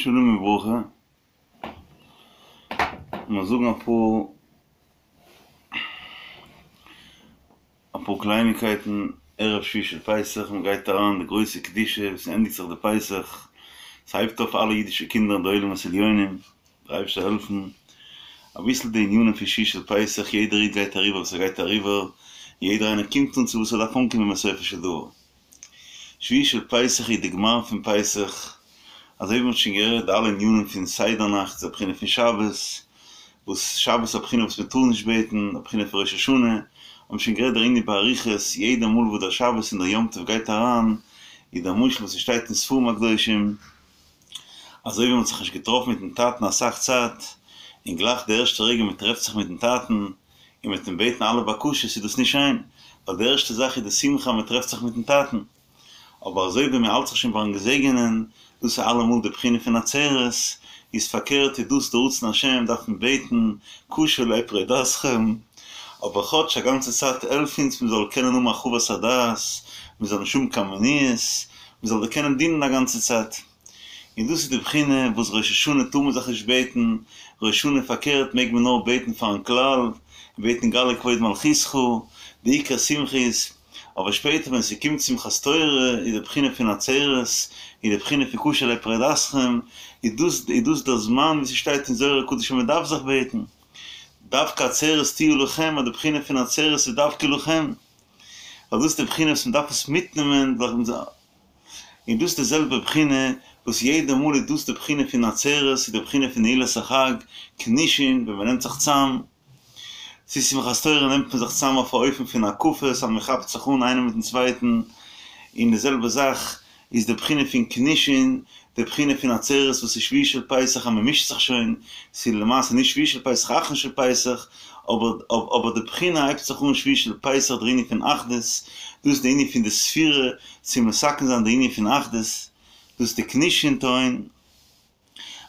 שלום וברכה, לאמיר זאגן אפאר אפאר קלייניקייטן ערב שביעי של פסח, מען גייט אריין די גרויסע קדושה, עס ענדיגט זיך די פסח, עס הייבט אויף אלע אידישע קינדער אין די עולמות עליונים, דער אייבערשטער זאל העלפן, אביסל די ענינים פון שביעי של פסח, יעדער איד גייט אריבער וואס ער גייט אריבער, יעדער איינער קומט אן צו וואס ער דארף אנקומען בסופו של דבר. שביעי של פסח איז די גמר פון פסח, אזוי ווי מ'האט שוין גערעדט די אלע ענינים פון סדר נאכט איז א בחינה פון שבת, וואס שבת איז א בחינה וואס מ'טאר נישט בעטן, א בחינה פון ראש השנה, האט מען שוין גערעדט דער ענין באריכות, יעדע מאל וואס דער שבת און דער יום טוב גייט אריין, איז דער משל וואס ס'שטייט אין ספרים הקדושים, אזוי ווי מ'האט זיך נישט געטראפן מיטן טאטן אסאך צייט, און גלייך די ערשטע רגע מ'טרעפט זיך מיטן טאטן, און מ'וועט אים בעטן אלע בקשות איז דאס נישט שיין, ווייל די ערשטע זאך איז די שמחה אז מ'טרעפט זיך מיטן טאטן. אבער אזוי ווי מ'האלט זיך שוין ביים געזעגענען, דאס איז אלעמאל די בחינה פון עצרת, איז פארקערט איז דאס די רצון השם דארף מען בעטן קשה עלי פרידתכם, אבער כאטש א גאנצע צייט העלף אונז מ'זאל קענען האבן הרחבת הדעת, מ'זאל נישט האבן קיין מניעות, מ'זאל דיר קענען דינען א גאנצע צייט. און דאס איז די בחינה וואס ראש השנה טאר מען זיך נישט בעטן, ראש השנה פארקערט מעג מען נאר בעטן פארן כלל, און בעטן גלה כבוד מלכותך, די עיקר שמחה איז, אבער שפעטער ווען ס'קומט שמחת תורה איז די בחינה פון עצרת, איז די בחינה פון קשה עלי פרידתכם, איז דאס איז דאס דער זמן ווי ס'שטייט אין זוהר הקדוש אז מ'דארף זיך בעטן, דווקא עצרת תהיה לכם, אז די בחינה פון עצרת איז דווקא לכם. ווייל דאס איז די בחינה וואס מען דארף עס מיטנעמען, און דאס איז די זעלבע בחינה וואס יעדע מאל איז דאס די בחינה פון עצרת, איז די בחינה פון נעילת החג, כנישין, ווען מען נעמט זיך צאם, צו שמחת תורה נעמט מען זיך צאם אויף א אופן פון הקפות אז מען כאפט זיך אן איינער מיטן צווייטן, און די זעלבע זאך איז די בחינה פון כנישין, די בחינה פון עצרת וואס איז שביעי של פסח אז מען מישט זיך שוין, ס'איז למעשה נישט שביעי של פסח אחרון של פסח, אבער אבער די בחינה הייבט זיך אן שביעי של פסח דער ענין פון אחדות, דאס איז די ענין פון די ספירה צו מתקן זיין די ענין פון אחדות, דאס איז די כנישין טהון.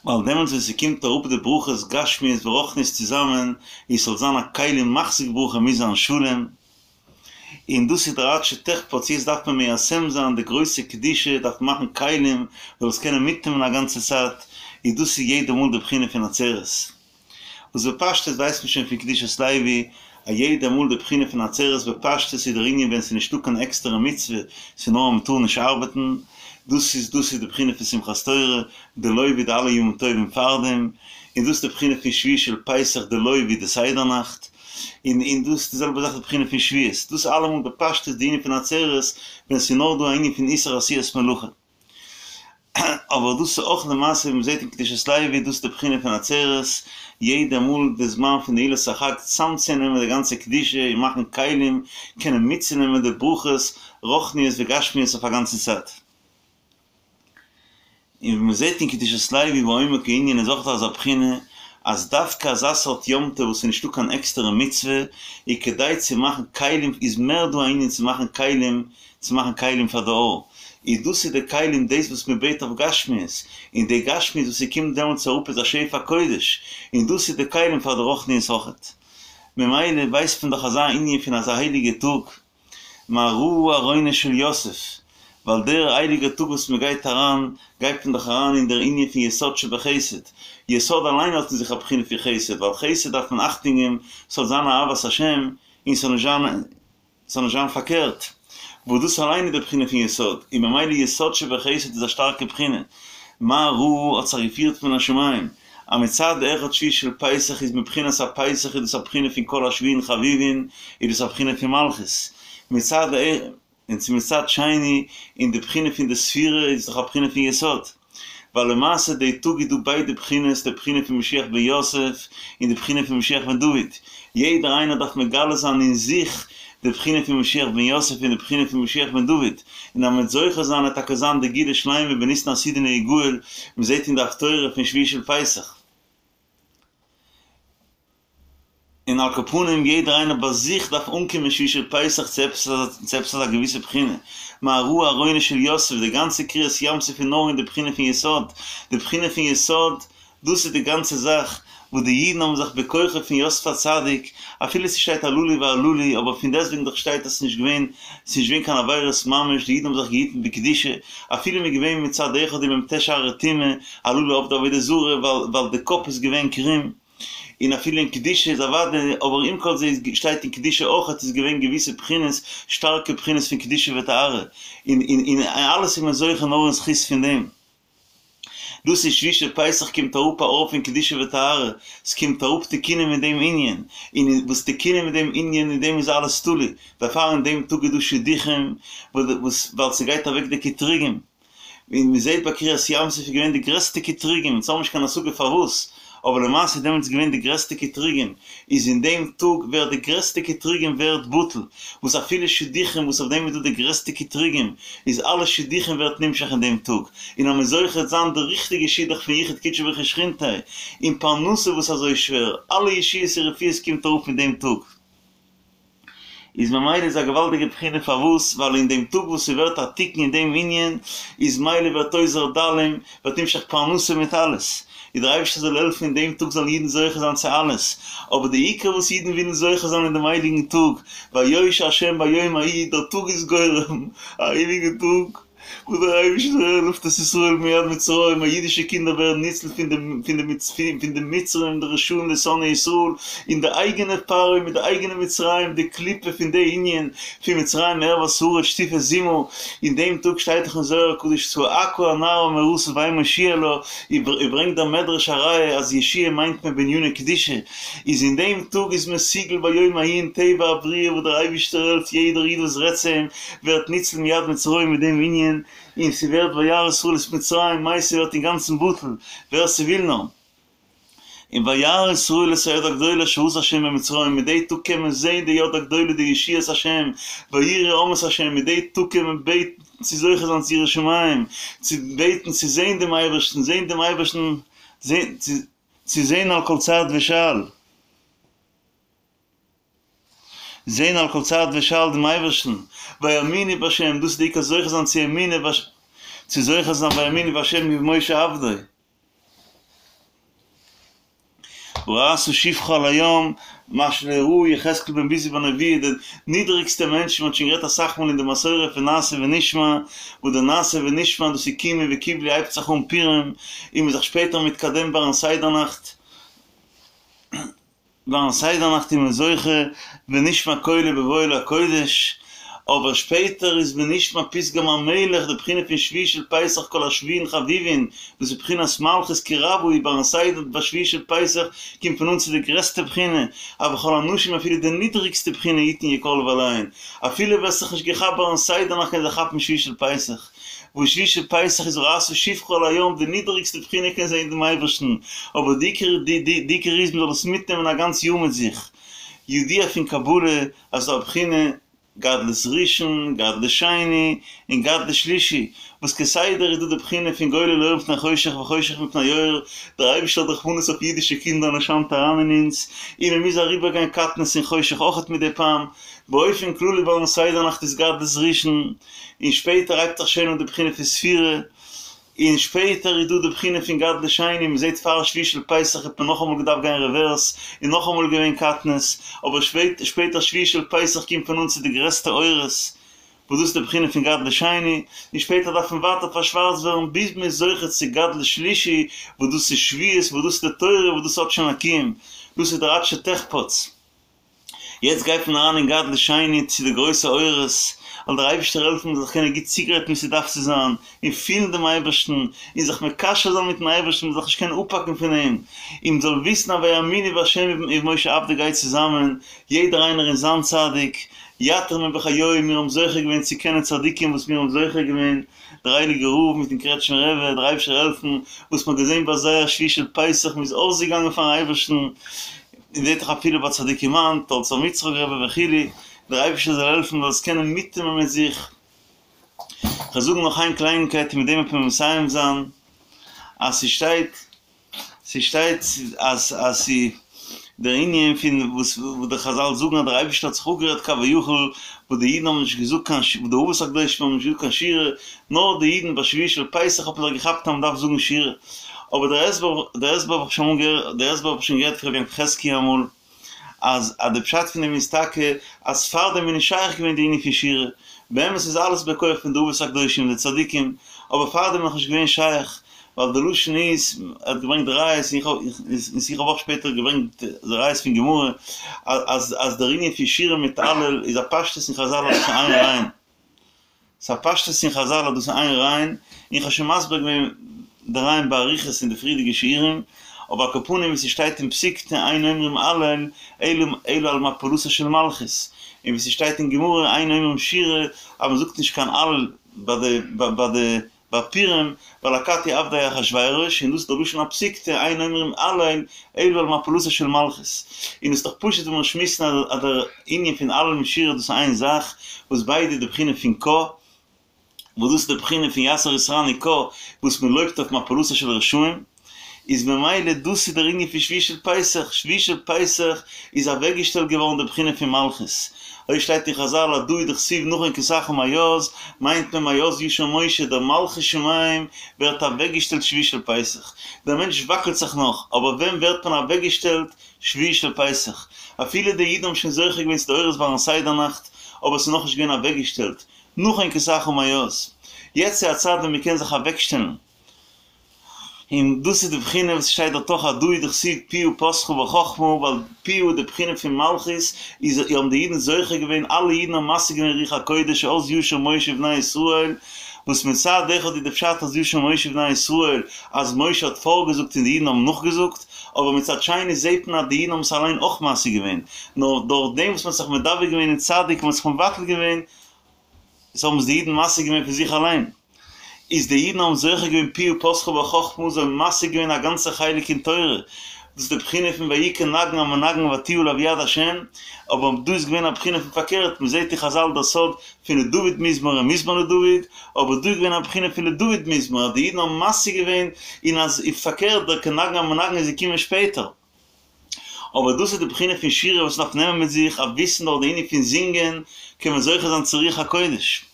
ווייל דעמאלטס ווען ס'קומט אראפ די ברכות גשמיות ורוחניות צוזאמען, און ס'זאל זיין א כלי מחזיק ברכה מוז זיין שלום, און דאס איז דער עד שתחפץ, יעצט דארף מען מיישם זיין די גרויסע קדושה, דארף מען מאכן כלים זאל עס קענען מיטנעמען א גאנצע צייט, איז דאס איז יעדע מאל די בחינה פון עצרת. וואס בפשטות ווייסט מען שוין פון קדושת לוי, א יעדע מאל די בחינה פון עצרת בפשטות איז דער ענין ווען ס'איז נישטא קיין עקסטערע מצוה, ס'איז נאר אז מ'טאר נישט ארבעטן, דאס איז דאס איז די בחינה פון שמחת תורה, דלא ווי די אלע ימים טובים פארדעם, און דאס איז די בחינה פון שביעי של פסח דלא ווי די סדר נאכט, און און דאס איז די זעלבע זאך די בחינה פון שבועות, דאס איז אלעמאל בפשטות די ענין פון עצרת ווען ס'איז נאר דא א ענין פון איסור עשיית מלאכה. אבער דאס איז אויך למעשה ווי מ'זעט אין קדושת לוי, דאס איז די בחינה פון עצרת, יעדע מאל די זמן פון נעילת החג צאמצונעמען די גאנצע קדושה און מאכן כלים קענען מיטצונעמען די ברכות רוחניות וגשמיות אויף א גאנצע צייט. און ווי מ'זעט אין קדושת לוי בעומק הענין איז אויך דא אזא בחינה אז דווקא אזא סארט יום טוב וואס איז נישטא קיין עקסטערע מצוה איז כדי צו מאכן כלים איז מער דא א ענין צו מאכן כלים צו מאכן כלים פאר די אור, איז דאס איז די כלים דאס וואס מען בעט אויף גשמיות, און די גשמיות וואס ס'קומט דעמאלטס אראפ איז א שפע קודש, און דאס איז די כלים פאר די רוחניות אויכעט. ממילא ווייסט מען דאך אזא ענין פון אזא הייליגע טאג, מה ראה ארונו של יוסף, ווייל דער הייליגער טאג וואס מען גייט אריין, גייט מען דאך אריין אין דער ענין פון יסוד שבחסד, יסוד אליין האט אין זיך א בחינה פון חסד, ווייל חסד דארף מען אכטונג געבן ס'זאל זיין אהבת השם, און ס'זאל נישט זיין. ס'זאל נישט זיין פארקערט, וואס דאס אליין איז די בחינה פון יסוד, און ממילא יסוד שבחסד איז א שטארקע בחינה. מה ראה האט זיך געפירט מן השמים, אז מצד אחד שביעי של פסח איז מבחינת הפסח איז דאס א בחינה פון כל השביעין חביבין, איז דאס א בחינה פון מלכות, מצד און צו מצד שני אין די בחינה פון די ספירה איז דאך א בחינה פון יסוד. ווייל למעשה די טאג איז דא ביידע בחינות, די בחינה פון משיח בן יוסף און די בחינה פון משיח בן דוד, יעדער איינער דארף מגלה זיין אין זיך די בחינה פון משיח בן יוסף און די בחינה פון משיח בן דוד, און אז מ'וועט זוכה זיין וועט טאקע זיין די גאולה שלימה בניסן עתידין להיגאל, מ'זעט אין די הפטורה פון שביעי של פסח. און על כל פנים יעדער איינער ביי זיך דארף אנקומען שביעי של פסח צו עפעס צו עפעס אזא געוויסע בחינה, מה ראה ארונו של יוסף, די גאנצע קריעת ים סוף איז נאר אין די בחינה פון יסוד, די בחינה פון יסוד, דאס איז די גאנצע זאך. וואס די אידן האבן זיך בכוחו פון יוסף הצדיק, אפילו ס'שטייט הללו והללו, אבער פון דעסטוועגן דאך שטייט אז ס'איז נישט געווען, ס'איז נישט געווען קיין עבירות ממש, די אידן האבן זיך געהיטן בקדושה, אפילו מ'איז געווען מצד אחד אין מ"ט שערי טומאה, הללו עובדי עבודה זרה, ווייל די קאפ איז געווען קרום. און אפילו אין קדושה איז אוודאי, אבער עם כל זה איז שטייט אין קדושה אויכעט איז געווען געוויסע בחינות, שטארקע בחינות פון קדושה וטהרה, און און און אלעס איז מען זוכה נאר אין זכות פון דעם. דאס איז שביעי של פסח קומט אראפ א אור פון קדושה וטהרה, ס'קומט אראפ תיקונים אין דעם ענין, און וואס תיקונים אין דעם ענין אין דעם איז אלעס תלוי, דערפאר אין דעם טאג איז דא שידוכים, וואס ווייל ס'גייט אוועק די קטרוגים. און מען זעט ביי קריעת ים סוף איז געווען די גרעסטע קטרוגים, אונז האבן נישט קיין השגה פארוואס, אבער למעשה איז דעמאלטס געווען די גרעסטע קטרוגים, איז אין דעם טאג ווערט די גרעסטע קטרוגים ווערט בטל, וואס אפילו שידוכים וואס אויף דעם איז דא די גרעסטע קטרוגים, איז אלע שידוכים ווערט נמשך אין דעם טאג, און אז מען זוכה זיין די ריכטיגע שידוך פון יחוד קודשא בריך הוא ושכינתיה, און פרנסה וואס אזוי שווער, אלע ישועות און רפואות קומט אראפ אין דעם טאג. איז ממילא איז א געוואלדיגע בחינה פארוואס ווייל אין דעם טאג וואס ס'ווערט א תיקון אין דעם ענין איז מילא ווערט עוזר דלים ווערט נמשך פרנסה מיט אלעס איז דער אייבערשטער זאל העלפן אין דעם טאג זאלן אידן זוכה זיין צו אלעס אבער די עיקר וואס אידן ווילן זוכה זיין אין דעם הייליגן טאג ויושע השם ביום ההוא דער טאג איז גורם א הייליגע טאג. וואס דער אייבערשטער העלפט את ישראל מיד מצרים, אז אידישע קינדער ווערן ניצל פון די פון די פון די מצרים די רשעים די שונאי ישראל, און די אייגענע פרעה מיט די אייגענע מצרים די קליפה פון די ענין פון מצרים ערות הארץ שטופי זימה, אין דעם טאג שטייט דאך אין זוהר הקדוש צעקה הנערה המאורסה ואין מושיע לה, און ברענגט דער מדרש א ראיה אז ישועה מיינט מען בעניני קדושה, איז אין דעם טאג איז מסוגל ביום ההוא אין טבע הבריאה וואס דער אייבערשטער העלפט יעדער איד וואס רעדט צו אים ווערט ניצל מיד מצרים מיט דעם ענין, און ס'ווערט וירא ישראל את מצרים, מיי ס'ווערט אינגאנצן בטל, ווער ס'וויל נאר. און וירא ישראל את היד הגדולה אשר עשה השם במצרים, מיט די טאג קען מען זען די יד הגדולה די ישועת השם, ויראו העם את השם, מיט די טאג קען מען בעטן צו זוכה זיין צו יראת שמים, צו בעטן צו זען דעם אייבערשטן, זען דעם אייבערשטן, צו זען על כל צעד ושעל. זען על כל צעד ושעל דעם אייבערשטן, ויאמינו בה', דאס איז די עיקר זוכה זיין צו אמונה בה', צו זוכה זיין ויאמינו בה' ובמשה עבדו. וראתה שפחה על הים, מה שלא ראה יחזקאל בן בוזי בנבואה, די נידריגסטע מענטשן, מען האט שוין גערעדט אסאך מאל אין די מסורה פון נעשה ונשמע, וואס די נעשה ונשמע דאס איז קימו וקיבלו הייבט זיך אן פורים, און מען איז זיך שפעטער מתקדם ביים סדר נאכט. ביים סדר נאכט איז מען זוכה ונשמע קולו בבואו אל הקודש, אבער שפעטער איז ונשמע פתגם המלך די בחינה פון שביעי של פסח כל השביעין חביבין, דאס איז בחינת מלכות כי רבה היא ביים סדר ביי שביעי של פסח קומט מען אן צו די גרעסטע בחינה, אבל כל האנשים אפילו די נידריגסטע בחינה יתן יקרלו עליהן, אפילו ווער ס'זיך נישט געכאפט ביים סדר נאכט קען זיך כאפן שביעי של פסח. וואס שביעי של פסח איז וראתה שפחה על הים די נידעריגסטע בחינה קען זען דעם אייבערשטן, אבער די עיקר די די די עיקר איז מ'זאל עס מיטנעמען א גאנץ יאר מיט זיך. ידוע פון קבלה אז ס'דא א בחינה גדלות ראשון, גדלות שני, און גדלות שלישי, וואס כסדר איז דא די בחינה פון גולל אור מפני חושך וחושך מפני אור, דער אייבערשטער האט רחמנות אויף אידישע קינדער און ער שיינט אריין אין אונז, און מ'מוז אריבערגיין קטנות און חושך אויכעט מדי פעם, באופן כללי ביים סדר נאכט איז גדלות ראשון, און שפעטער הייבט זיך שוין אן די בחינה פון ספירה, און שפעטער איז דא די בחינה פון גדלות שני, מען זעט פאר שביעי של פסח האט מען נאכאמאל געדארפט גיין רעווערס, און נאכאמאל געווען קטנות, אבער שפעטער שביעי של פסח קומט מען אן צו די גרעסטע אורות, וואס דאס איז די בחינה פון גדלות שני, און שפעטער דארף מען ווייטער פארשווארצט ווערן ביז מען איז זוכה צו גדלות שלישי, וואס דאס איז שבועות, וואס דאס איז די תורה, וואס דאס האט שוין א קיום, דאס איז דער עד שתחפץ. יעצט גייט מען אריין אין גדלות שני צו די גרויסע אורות, זאל דער אייבערשטער העלפן מ'זאל זיך קענען גוט צוגרייטן ווי ס'דארף צו זיין, און פילן דעם אייבערשטן, און זיך מקשר זיין מיטן אייבערשטן, מ'זאל זיך נישט קענען אפהאקן פון אים, און מ'זאל וויסן אז ויאמינו בה' ובמשה עבדו גייט צוזאמען, יעדער איינער אין זיין צדיק, יתיר מבחיוהי, מיר האבן זוכה געווען צו קענען צדיקים וואס מיר האבן זוכה געווען, דער הייליגער רב מיטן קרעטשמער רבי, דער אייבערשטער העלפן, וואס מ'האט געזען ביי זיי א שביעי של פסח, מ'איז אויסגעגאנגען פארן אייבערשטן, און זעט דאך אפילו ביי צדיקים היינט, תולדות אברהם יצחק רבי וכו', דער אייבערשטער זאל העלפן מ'זאל עס קענען מיטנעמען מיט זיך. כ'וועל זאגן נאך איין קלייניקייט און מיט דעם וועט מען מסיים זיין, אז ס'שטייט, ס'שטייט אז אז ס' דער ענין פון וואס וואס די חזל זאגן אז דער אייבערשטער האט זיך אפגערעדט כביכול, וואס די אידן האבן נישט געזאגט קיין ש די אבות הקדושים האבן נישט געזאגט קיין שירה, נאר די אידן ביי שביעי של פסח האט מען זיך געכאפט אז מ'דארף זאגן שירה. אבער דער הסבר, דער הסבר האב איך שוין אמאל געהערט, דער הסבר האב איך שוין געהערט פון רבי יעקב חזקיה אמאל, אז אז די פשט פון דעם איז טאקע אז פארדעם איז נישט שייך געווען די ענין פון שירה, באמת איז אלעס בכח פון די אבות הקדושים די צדיקים, אבער פארדעם איז נאכנישט געווען שייך, ווייל די לשון איז, ער האט געברענגט ראיות, און איך האב און איך האב אויך שפעטער געברענגט די ראיות פון גמרא, אז אז דער ענין פון שירה מיט הלל איז א פשטות אין חזל אז דאס איז איין רעיון. ס'איז א פשטות אין חזל אז דאס איז איין רעיון, איך האב שוין מסביר געווען די רעיון באריכות אין די פריערדיגע שיעורים, אבער על כל פנים ווי ס'שטייט אין פסיקתא אין אומרים הלל אלא על מפלתה של מלכות, און ווי ס'שטייט אין גמרא אין אומרים שירה אז מ'זאגט נישט קיין הלל ביי די ביי די ביי פורים, ווייל אכתי עבדי אחשורוש, און דאס איז דער לשון הפסיקתא, אין אומרים הלל, אלא על מפלתה של מלכות. און עס איז דאך פשוט ווען מיר שמועסן אז דער ענין פון הלל מיט שירה דאס איז איין זאך, וואס ביידע די בחינה פון קה, וואס דאס איז די בחינה פון יתר יתרני קה, וואס מען לויבט אויף מפלתה של רשעים, איז ממילא דאס איז דער ענין פון שביעי של פסח, שביעי של פסח איז אוועקגעשטעלט געווארן די בחינה פון מלכות, אזוי שטייט אין חזל הדא הוא דכתיב נכון כסאך מאז, מיינט מען מאז ישיר משה, דער מלכות שמים ווערט אוועקגעשטעלט שביעי של פסח, דער מענטש וואקלט זיך נאך, אבער ווען ווערט מען אוועקגעשטעלט? שביעי של פסח, אפילו די אידן האבן שוין זוכה געווען צו די אורות ביים סדר נאכט, אבער עס איז נאכנישט געווען אוועקגעשטעלט, נכון כסאך מאז, יעצט איז א צייט ווען מען קען זיך אוועקשטעלן, און דאס איז די בחינה וואס שטייט דארט אויך הדא הוא דכתיב פיה פתחה בחכמה, ווייל פיה די בחינה פון מלכות איז האבן די אידן זוכה געווען, אלע אידן האבן משיג געווען רוח הקודש אז ישיר משה ובני ישראל, וואס מצד אחד איז די פשט אז ישיר משה ובני ישראל אז משה האט פארגעזאגט און די אידן האבן נאכגעזאגט, אבער מצד שני זעט מען אז די אידן האבן עס אליין אויך משיג געווען, נאר דורך דעם וואס מען האט זיך מדבק געווען אין צדיק און מען האט זיך מבטל געווען, עס האבן עס די אידן משיג געווען פון זיך אליין. איז די אידן האבן זוכה געווען פיה פתחה בחכמה, זיי האבן משיג געווען א גאנצע חלק אין תורה, דאס איז די בחינה פון ויהי כנגן המנגן ותהי עליו יד השם, אבער דא איז געווען א בחינה פון פארקערט, מען זעט אין חזל דער סוד פון לדוד מזמור און מזמור לדוד, אבער דא איז געווען א בחינה פון לדוד מזמור אז די אידן האבן משיג געווען, און אז פארקערט דער כנגן המנגן איז געקומען שפעטער. אבער דאס איז די בחינה פון שירה וואס מ'דארף נעמען מיט זיך, א וויסן דורך די ענין פון זינגען קען מען זוכה זיין צו רוח הקודש.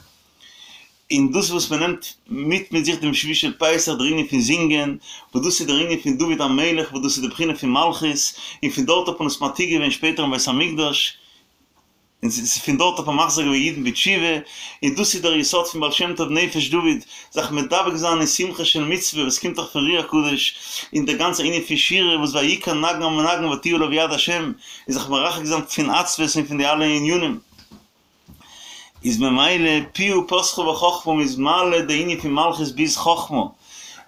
און דאס וואס מען נעמט מיט מיט זיך דעם שביעי של פסח דער ענין פון זינגען, וואס דאס איז דער ענין פון דוד המלך וואס דאס איז די בחינה פון מלכות, און פון דארט האט מען עס מעתיק געווען שפעטער אין בית המקדש, און פון דארט האט מען מחזיר געווען אידן בתשובה, און דאס איז דער יסוד פון בעל שם טוב נפש דוד, זיך מדבק זיין אין שמחה של מצוה וואס קומט דאך פון רוח הקודש, און דער גאנצער ענין פון שירה וואס ויהי כנגן המנגן ותהי עליו יד השם, און זיך מרחק זיין פון עצבות און פון די אלע ענינים. איז ממילא פיה פתחה בחכמה מ'איז מעלה די ענין פון מלכות ביז חכמה,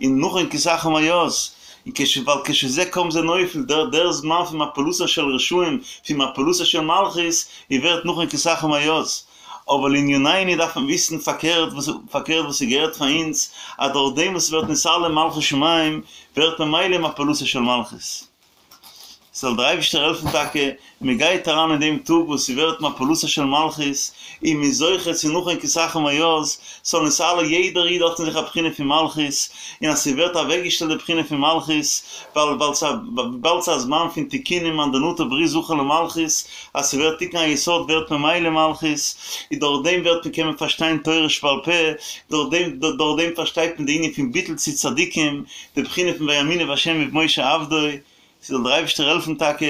און נכון כסאך מאז, און כש ווייל כשזה קם זה נופל, דער דער זמן פון מפלתה של רשעים, פון מפלתה של מלכות, איז ווערט נכון כסאך מאז. אבער לענינינו דארף מען וויסן פארקערט וואס פארקערט וואס ס'געהערט פאר אונז, אז דורך דעם וואס ס'ווערט נתעלה מלכות שמים, ווערט ממילא מפלתה של מלכות. זאל דער אייבישטער העלפן טאקע מען גייט אריין אין דעם טאג וואס ס'ווערט מפלתה של מלכות און מ'איז זוכה צו נכון כסאך מאז, ס'זאל נתעלה יעדער איד האט אין זיך א בחינה פון מלכות, און אז ס'ווערט אוועקגעשטעלט די בחינה פון מלכות, ווייל וויבאלד ס'איז א זמן פון תיקונים מאן דנטר ברית זכה למלכות, אז ס'ווערט תיקון היסוד ווערט ממילא מלכות, און דורך דעם ווערט מען קען מען פארשטיין תורה שבעל פה, דורך דעם דורך דעם פארשטייט מען די ענין פון ביטול צו צדיקים, די בחינה פון ויאמינו בה' ובמשה עבדו, ס'זאל דער אייבערשטער העלפן טאקע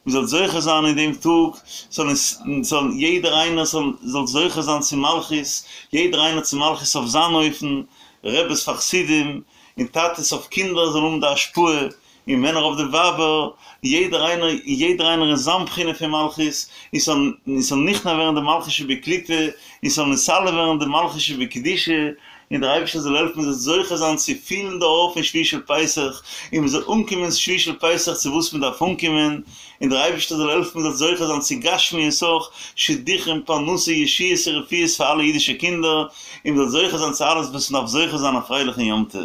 מען זאל זוכה זיין אין דעם טאג, זאל זאל יעדער איינער זאל זאל זוכה זיין צו מלכות, יעדער איינער צו מלכות אויף זיין אופן, רעבעס פאר חסידים, און טאטעס אויף קינדער זאלן האבן די השפעה, און מענער אויף די ווייבער, יעדער איינער יעדער איינער אין זיין בחינה פון מלכות, און ס'זאל און ס'זאל נכנע ווערן די מלכות שבקליפה, און ס'זאל נתעלה ווערן די מלכות שבקדושה, און דער אייבערשטער זאל העלפן מען זאל זוכה זיין צו פילן די אור פון שביעי של פסח, און מען זאל אנקומען שביעי של פסח צו וואס מען דארף אנקומען, און דער אייבערשטער זאל העלפן מען זאל זוכה זיין צו גשמיות אויך, שידוכים, פרנסה, ישועות און רפואות פאר אלע אידישע קינדער, און מען זאל זוכה זיין צו אלעס וואס מען דארף זוכה זיין א פרייליכן יום טוב.